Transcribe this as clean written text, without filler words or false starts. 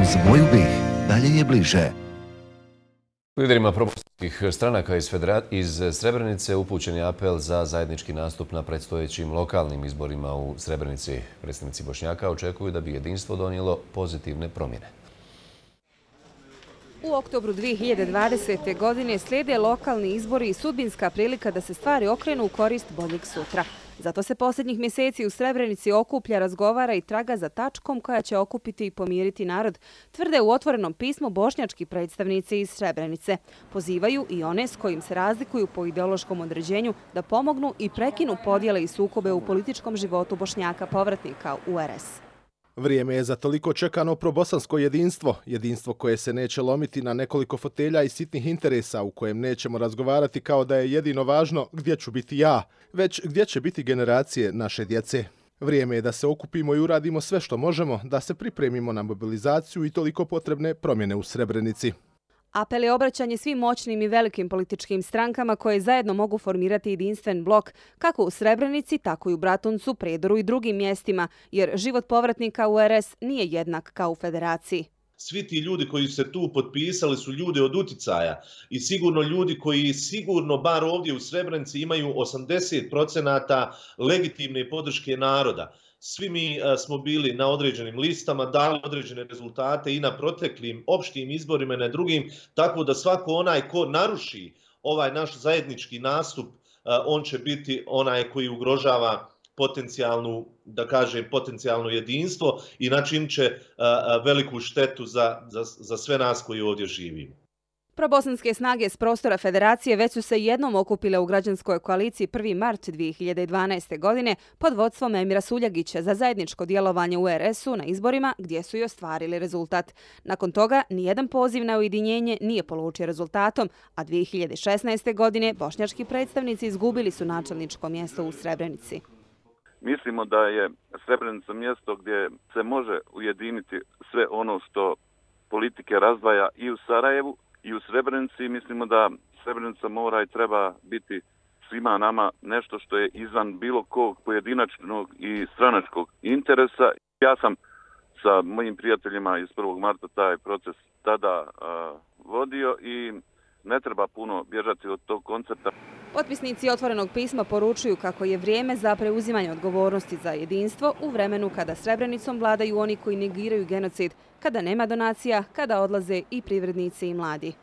Uz moju BiH dalje je bliže. Liderima probosanskih stranaka iz Srebrenice upućen je apel za zajednički nastup na predstojećim lokalnim izborima u Srebrenici. Predstavnici Bošnjaka očekuju da bi jedinstvo donijelo pozitivne promjene. U oktobru 2020. godine slijede lokalni izbori i sudbinska prilika da se stvari okrenu u korist boljeg sutra. Zato se posljednjih mjeseci u Srebrenici okuplja, razgovara i traga za tačkom koja će okupiti i pomiriti narod, tvrde u otvorenom pismu bošnjački predstavnici iz Srebrenice. Pozivaju i one s kojim se razlikuju po ideološkom određenju da pomognu i prekinu podjele i sukobe u političkom životu Bošnjaka povratnika u RS. Vrijeme je za toliko čekano probosansko jedinstvo, jedinstvo koje se neće lomiti na nekoliko fotelja i sitnih interesa u kojem nećemo razgovarati kao da je jedino važno gdje ću biti ja, već gdje će biti generacije naše djece. Vrijeme je da se okupimo i uradimo sve što možemo, da se pripremimo na mobilizaciju i toliko potrebne promjene u Srebrenici. Apel je obraćanje svim moćnim i velikim političkim strankama koje zajedno mogu formirati jedinstven blok, kako u Srebrenici, tako i u Bratuncu, Predoru i drugim mjestima, jer život povratnika u RS nije jednak kao u Federaciji. Svi ti ljudi koji su se tu potpisali su ljudi od uticaja i sigurno ljudi koji sigurno, bar ovdje u Srebrenici, imaju 80% legitimne podrške naroda. Svi mi smo bili na određenim listama, dali određene rezultate i na proteklim opštim izborima i na drugim, tako da svako onaj ko naruši ovaj naš zajednički nastup, on će biti onaj koji ugrožava potencijalno jedinstvo i načinit će veliku štetu za sve nas koji ovdje živimo. Probosanske snage s prostora Federacije već su se jednom okupile u građanskoj koaliciji 1. mart 2012. godine pod vodstvom Emira Suljagića za zajedničko djelovanje u RS-u na izborima gdje su i ostvarili rezultat. Nakon toga nijedan poziv na ujedinjenje nije polučio rezultatom, a 2016. godine bošnjački predstavnici izgubili su načelničko mjesto u Srebrenici. Mislimo da je Srebrenica mjesto gdje se može ujediniti sve ono što politike razdvaja i u Sarajevu i u Srebrenici. Mislimo da Srebrenica mora i treba biti svima nama nešto što je izvan bilo kog pojedinačnog i stranačkog interesa. Ja sam sa mojim prijateljima iz 1. marta taj proces tada vodio i ne treba puno bježati od tog koncepta. Potpisnici otvorenog pisma poručuju kako je vrijeme za preuzimanje odgovornosti za jedinstvo u vremenu kada Srebrenicom vladaju oni koji negiraju genocid, kada nema donacija, kada odlaze i privrednici i mladi.